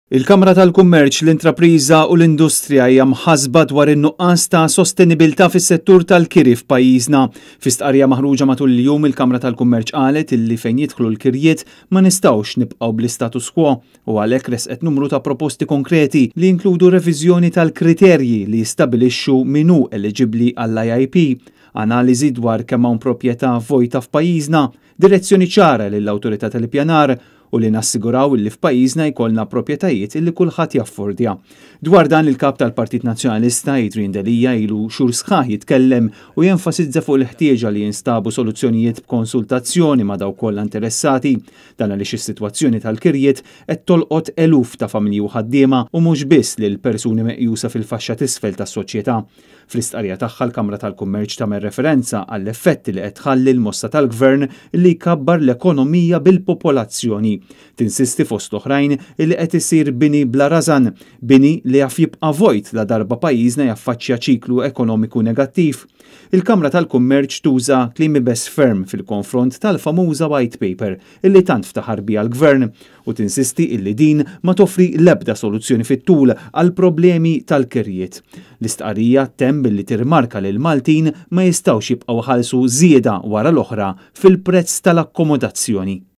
Il-Kamra tal-Kummerċ, l-Intrapriża u l-Industrija hija mħassba dwar in-nuqqas ta' sostenibilità fis-settur tal-kiri f'pajjiżna. Fi stqarrija maħruġa matul il-jum, il-Kamra tal-Kummerċ qalet illi fejn jidħlu l-kirjiet ma nistgħux nibqgħu bl-istatus quo u għalhekk ressqet numru ta' proposti konkreti li jinkludu reviżjoni tal-kriterji li jistabilixxu min hu eliġibbli għall-IIP, analiżi dwar kemm hawn proprjetà vojta f'pajjiżna, direzzjoni ċara lill-Awtorità tal-Ippjanar u li nassiguraw illi f'pajjiżna jkollna proprjetajiet illi kulħadd jaffordja. Dwar dan il-kap tal-Partit Nazzjonalista Adrian Delia ilu xhur sħaħ jitkellem u jenfasizza fuq il-ħtieġa li jinstabu soluzzjonijiet b'konsultazzjoni ma' dawk kollha interessati. Dan għaliex is-sitwazzjoni tal-kirjiet qed tolqot eluf ta' familji u ħaddiema u mhux biss lil persuni meqjusa fil-faxxa t'isfel tas-soċjetà. Fl-istqarrija tagħha l-Kamra tal-Kummerċ tagħmel referenza għall-effetti li qed tħalli l-mossa tal-Gvern li jkabbar l-ekonomija bil-popolazzjoni. Tinsisti fost l-oħrajn li qed isir bini bla rażan, bini li jaf jibqa' vojt la darba pajjiżna jaffaċċja ċiklu ekonomiku negattiv. Il-Kamra tal-Kummerċ tuża kliem iebes ferm fil-konfront tal-famuża White Paper illi tant ftaħar biha l-Gvern u tinsisti illi din ma toffri l-ebda soluzzjoni fit-tul għall-problemi tal-kirjiet. L-istqarrija ttemm billi tirrimarka li l-Maltin ma jistgħux jibqgħu jħallsu żieda wara l-oħra fil-prezz tal-akkomodazzjoni.